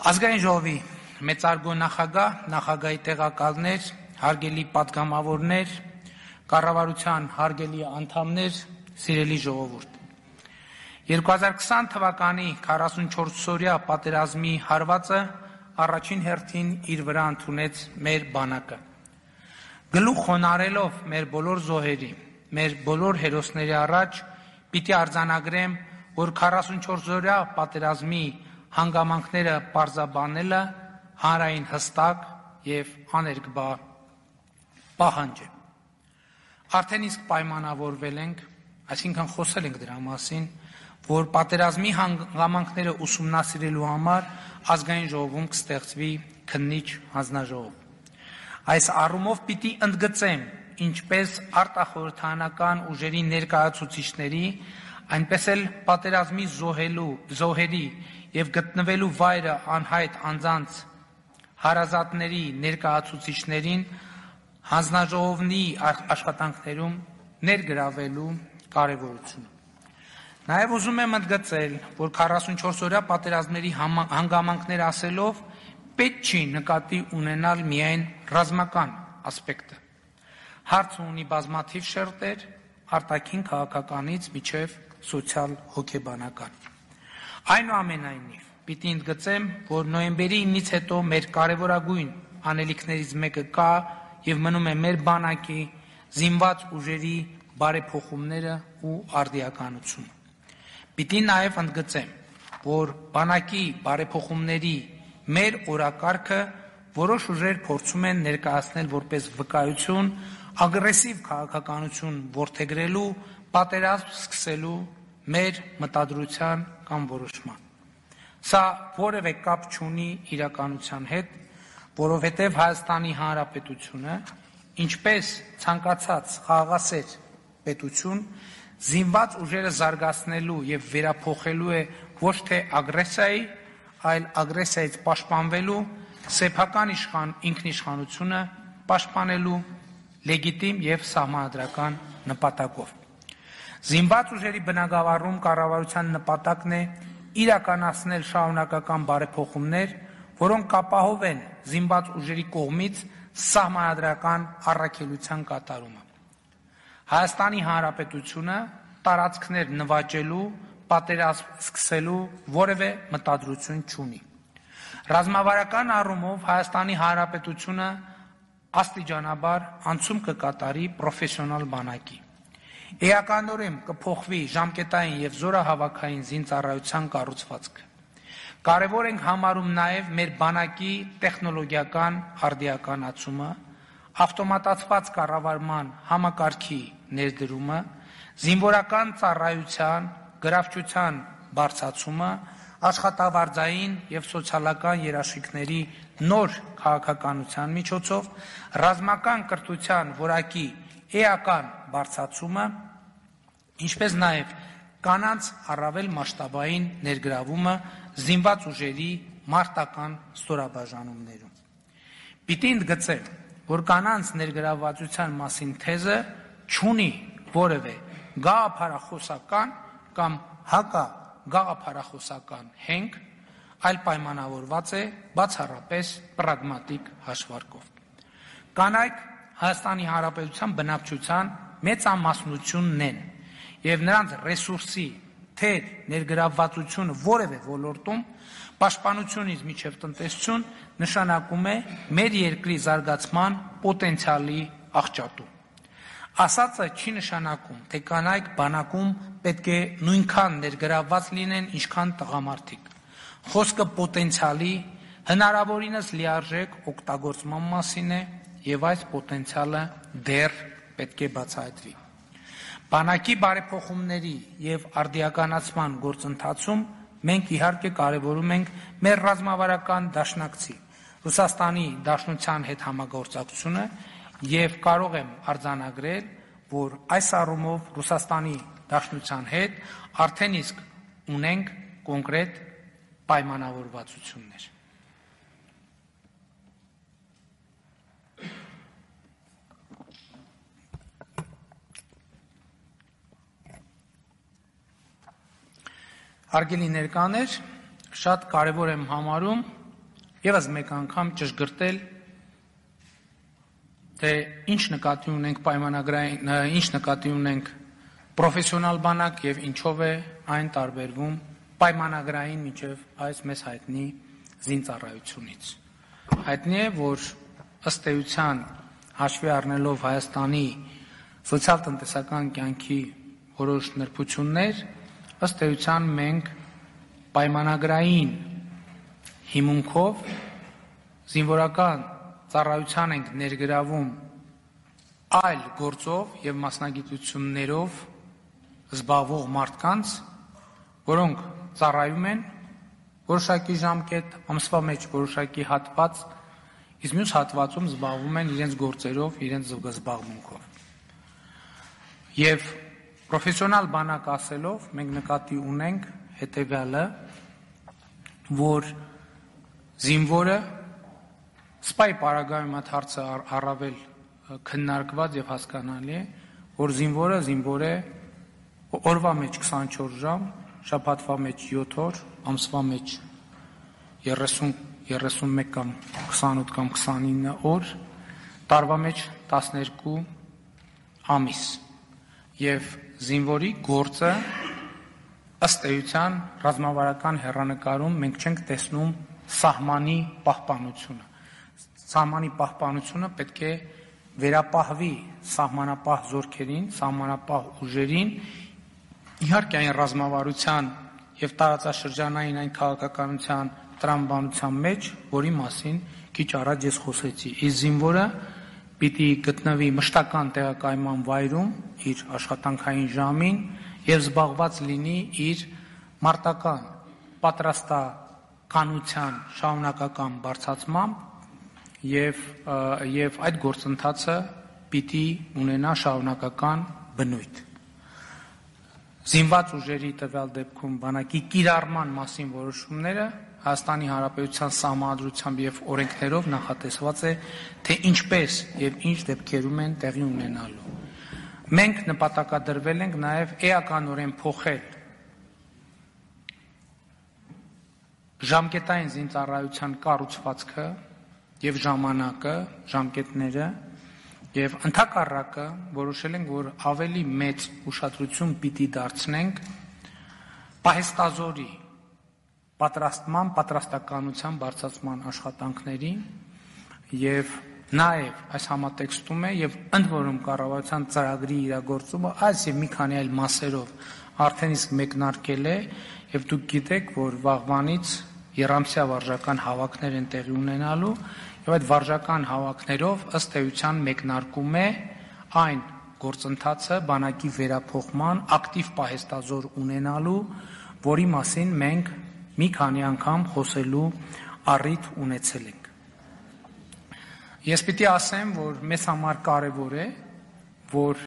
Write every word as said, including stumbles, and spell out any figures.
Ազգային ժողովի մեծարգո նախագահ, նախագահի տեղակալներ, հարգելի պատգամավորներ, կառավարության հարգելի անդամներ, սիրելի ժողովուրդ։ երկու հազար քսան թվականի քառասունչորսօրյա պատերազմի հարվածը առաջին հերթին իր վրա ընդունեց մեր բանակը։ Գլուխ խոնարելով մեր բոլոր զոհերի, մեր բոլոր հերոսների առաջ պիտի արձանագրեմ, որ քառասունչորսօրյա պատերազմի հանգամանքները պարզաբանելը հանրային հստակ և աներկբա պահանջ է։ Արդեն իսկ պայմանավորվել ենք, այսինքն խոսել ենք դրա մասին, որ պատերազմի հանգամանքները ուսումնասիրելու համար ազգային ժողովում կստեղծվի քննիչ հանձնաժողով։ Այս առումով պիտի ընդգծեմ ինչպես արտախորհրդարանական ուժերի ներկայացուցիչների, այնպես էլ պատերազմի զոհերի և գտնվելու վայրը անհայտ անձանց հարազատների ներկայացուցիչներին հանձնաժողովի աշխատանքներում ներգրավելու կարևորությունը։ Նաև ուզում եմ ընդգծել, որ քառասունչորսօրյա պատերազմների հանգամանքներ ասելով պետք չի նկատի ունենալ միայն ռազմական ասպեկտը։ Հարցը ունի բազմաթիվ շերտեր, արտաքին քաղաքականից մինչև սոցիալ-հոգեբանական։ Այնուամենայնիվ, պիտի ընդգծեմ, որ նոյեմբերի ինից հետո մեր կարևորագույն անելիքներից մեկը կա և մնում է մեր բանակի զինված ուժերի բարեփոխումները ու արդիականությունը։ Պիտի նաև ընդգծեմ, որ բանակի բարեփոխումների մեր օրակարգը որոշ ուժեր փորձում են ներկայացնել որպես վկայություն ագրեսիվ քաղաքականություն որդեգրելու, պատերազմ սկսելու մեր մտադրության կամ որոշման։ Սա որևէ կապ չունի իրականության հետ, որովհետև Հայաստանի Հանրապետությունը, ինչպես ցանկացած խաղաղասեր պետություն, զինված ուժերը զարգացնելու և վերափոխելու է ոչ թե ագրեսիայի, այլ ագրեսիայից պաշտպանվելու, սեփական ինքնիշխանությունը պաշտպանելու լեգիտիմ և սահմանադրական նպատակով։ Զինված ուժերի բնագավառում կառավարության նպատակն է իրականացնել շարունակական բարեփոխումներ, որոնք կապահովեն զինված ուժերի կողմից սահմանադրական առաքելության կատարումը։ Հայաստանի Հանրապետությունը տարածքներ նվաճելու, պատերազմ սկսելու որևէ մտադրություն չունի։ Ռազմավարական առումով Հայաստանի Հանրապետությունը աստիճանաբար անցում կկատարի պրոֆեսիոնալ բանակի։ Էականորեն կփոխվի ժամկետային և զորահավաքային զինծառայության կառուցվածքը։ Կարևոր ենք համարում նաև մեր բանակի տեխնոլոգիական արդիականացումը, ավտոմատացված կառավարման համակարգի ներդրումը, զինվորական ծառայության, գրավչության բարձրացումը, աշխատավարձային և սոցիալական երաշխիքների նոր քաղաքականության միջոցով, ռազմական կրթության որակի էական բարձրացումը, ինչպես նաև կանանց առավել մասշտաբային ներգրավումը զինված ուժերի մարտական ստորաբաժանումներում։ Պիտի ընդգծեմ, որ կանանց ներգրավվածության մասին թեզը չունի որևէ գաղափարախոսական կամ հակագաղափարախոսական հենք, այլ պայմանավորված է բացառապես պրագմատիկ հաշվարկով։ Կանայք Հայաստանի Հանրապետության բնակչության մեծամասնությունն են և նրանց ռեսուրսի թեր ներգրավվածությունը որևէ ոլորտում պաշտպանությունից մինչև տնտեսություն նշանակում է մեր երկրի զարգացման պոտենցիալի աղճատում։ Ասածը չի նշանակում, թե կանայք բանակում պետք է նույնքան ներգրավված լինեն, ինչքան տղամարդիկ։ Խոսքը պոտենցիալի հնարավորինս լիարժեք օգտագործման մասին է և այս պոտենցիալը դեռ պետք է բացահայտվի։ Բանակի բարեփոխումների և արդիականացման գործընթացում մենք իհարկե կարևորում ենք մեր ռազմավարական դաշնակցի Ռուսաստանի Դաշնության հետ համագործակցությունը և կարող եմ արձանագրել, որ այս առումով Ռուսաստանի Դաշնության հետ արդեն իսկ ունենք կոնկրետ պայմանավորվածություններ։ Հարգելի ներկաներ, շատ կարևոր եմ համարում Եվս մեկ անգամ ճշգրտել, թե ինչ նկատի ունենք պայմանագրային, ինչ նկատի ունենք պրոֆեսիոնալ բանակ եւ ինչով է այն տարբերվում պայմանագրային միջև այս մեզ հայտնի զինծառայությունից։ Հայտնի է, որ ըստ էության հաշվի առնելով Հայաստանի սոցիալ-տնտեսական կյանքի որոշ նրբություններ, ըստ էության մենք պայմանագրային հիմունքով զինվորական ծառայության ենք ներգրավում այլ գործով եւ մասնագիտություններով զբաղվող մարդկանց, որոնք ծառայում են որոշակի ժամկետ, ամսվա մեջ որոշակի հատված, իսկ մյուս հատվածում զբաղվում են իրենց գործերով, իրենց զբաղմունքով։ Եվ պրոֆեսիոնալ բանակ ասելով մենք նկատի ունենք հետևյալը, որ զինվորը սպայի պարագայում այդ հարցը առավել քննարկված եւ հասկանալի է, որ զինվորը զինվոր է օրվա մեջ քսանչորս ժամ, շաբաթվա մեջ յոթ օր, ամսվա մեջ երեսուն երեսունմեկ կամ քսանութ կամ քսանինը օր, տարվա մեջ տասներկու ամիս։ Եվ զինվորի գործը ըստ էության ռազմավարական հեռանկարում մենք չենք տեսնում սահմանի պահպանությունը։ Սահմանի պահպանությունը պետք է վերապահվի սահմանապահ զորքերին, սահմանապահ ուժերին, իհարկե այն ռազմավարության եւ տարածաշրջանային այն քաղաքականության տրամաբանության մեջ, որի մասին քիչ առաջ ես խոսեցի։ Իսկ զինվորը պիտի գտնվի մշտական տեղակայման վայրում իր աշխատանքային ժամին եւ զբաղված լինի իր մարտական պատրաստականության շարունակական բարձրացմամբ եւ եւ այդ գործընթացը պիտի ունենա շարունակական բնույթ։ Զինված ուժերի տվյալ դեպքում բանակի կիրառման մասին որոշումները Հայաստանի Հանրապետության Սահմանադրությամբ եւ օրենքներով նախատեսված է, թե ինչպես եւ ինչ դեպքերում են տեղի ունենալու։ Մենք նպատակադրվել ենք նաեւ էականորեն փոխել ժամկետային զինծառայության կառուցվածքը եւ ժամանակը, ժամկետները եւ ընդհակառակը որոշել ենք, որ ավելի մեծ ուշադրություն պիտի դարձնենք պահեստազորի պատրաստման, պատրաստականության բարձրացման աշխատանքներին եւ նաեւ այս համատեքստում է եւ ընդ որում կառավարության ծրագրի իրագործումը այս եւ մի քանի այլ մասերով արդեն իսկ մեկնարկել է եւ դուք գիտեք, որ վաղվանից երամսյա վարժական հավաքներ են տեղի ունենալու եւ այդ վարժական հավաքներով ըստ էության մեկնարկում է այն գործընթացը բանակի վերափոխման ակտիվ պահեստազոր ունենալու, որի մասին մենք մի քանի անգամ խոսելու առիթ ունեցել ենք։ Ես պիտի ասեմ, որ մեզ համար կարևոր է, որ